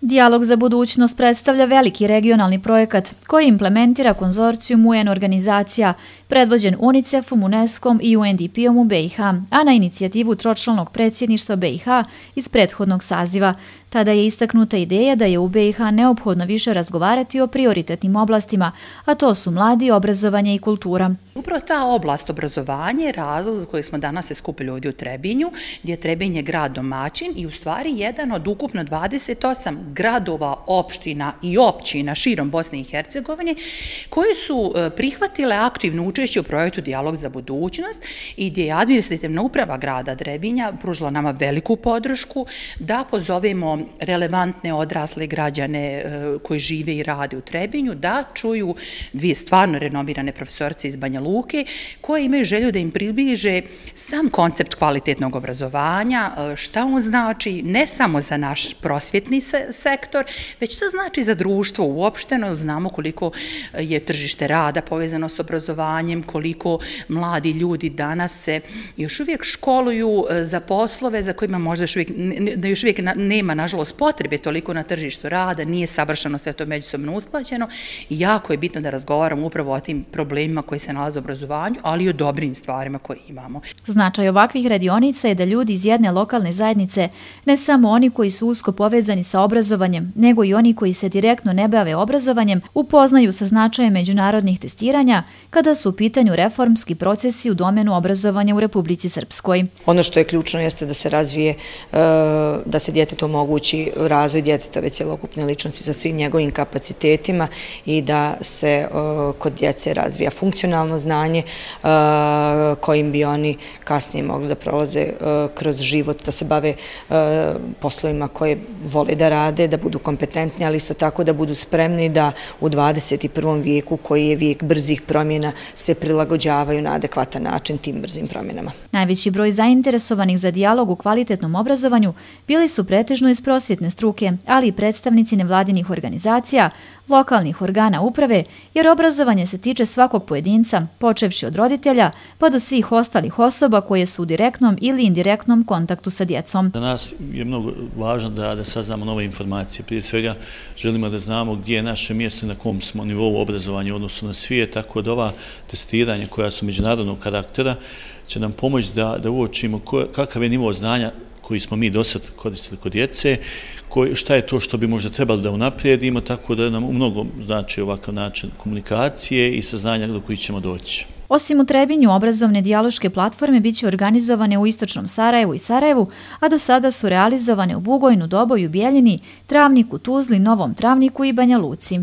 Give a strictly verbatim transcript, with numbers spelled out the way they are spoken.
Dijalog za budućnost predstavlja veliki regionalni projekat koji implementira konzorcijum U N organizacija, predvođen UNICEF-om, UNESCO-om i U N D P-om u B i H, a na inicijativu tročlanog predsjedništva B i H iz prethodnog saziva. Tada je istaknuta ideja da je u B i H neophodno više razgovarati o prioritetnim oblastima, a to su mladi, obrazovanje i kultura. Upravo ta oblast obrazovanja je razlog za koji smo danas se skupili ovdje u Trebinju, gdje je Trebinje grad domaćin i u stvari jedan od ukupno dvadeset osam gradova, opština i općina širom Bosne i Hercegovine koji su prihvatile aktivno učešće u projektu Dijalog za budućnost i gdje je administrativna uprava grada Trebinja pružila nama veliku podršku da pozovemo relevantne odrasle građane koji žive i rade u Trebinju da čuju dvije stvarno renomirane profesorce iz Banja Luke koje imaju želju da im približe sam koncept kvalitetnog obrazovanja, šta on znači ne samo za naš prosvjetni sektor, već što znači za društvo uopšteno, jer znamo koliko je tržište rada povezano s obrazovanjem, koliko mladi ljudi danas se još uvijek školuju za poslove za kojima možda još uvijek, da još uvijek nema, nažalost, potrebe toliko na tržištu rada, nije savršeno sve to međusobno usklađeno i jako je bitno da razgovaramo upravo o tim problemima koji se nalaze u obrazovanju, ali i o dobrim stvarima koje imamo. Značaj ovakvih radionica je da ljudi iz jedne lokalne zajednice, ne samo oni koji su usko povezani sa obrazovanjem, nego i oni koji se direktno ne bave obrazovanjem, upoznaju sa značajem međunarodnih testiranja kada su u pitanju reformski procesi u domenu obrazovanja u Republici Srpskoj. Ono što je ključno jeste da se razvije, da se djetetu omogući razvoj djetetove cjelokupne ličnosti sa svim njegovim kapacitetima i da se kod djece razvija funkcionalno znanje kojim bi oni kasnije mogli da prolaze kroz život, da se bave poslovima koje vole da rade, da budu kompetentni, ali isto tako da budu spremni da u dvadeset prvom vijeku, koji je vijek brzih promjena, se prilagođavaju na adekvatan način tim brzim promjenama. Najveći broj zainteresovanih za dijalog u kvalitetnom obrazovanju bili su pretežno iz prosvjetne struke, ali i predstavnici nevladinih organizacija, lokalnih organa uprave, jer obrazovanje se tiče svakog pojedinca, počevši od roditelja pa do svih ostalih osoba koje su u direktnom ili indirektnom kontaktu sa djecom. Za nas je mnogo važno da, da saznamo nove informacije. Prije svega želimo da znamo gdje je naše mjesto i na kom smo nivou obrazovanja u odnosu na svijet, tako da ova testiranja koja su međunarodnog karaktera će nam pomoći da, da uočimo ko, kakav je nivo znanja koji smo mi do sad koristili kod djece, koji, šta je to što bi možda trebali da unaprijedimo, tako da nam u mnogo znači ovakav način komunikacije i saznanja do kojih ćemo doći. Osim u Trebinju, obrazovne dijaloške platforme biće organizovane u istočnom Sarajevu i Sarajevu, a do sada su realizovane u Bugojnu, Doboju, Bijeljini, Travniku, Tuzli, Novom Travniku i Banja Luci.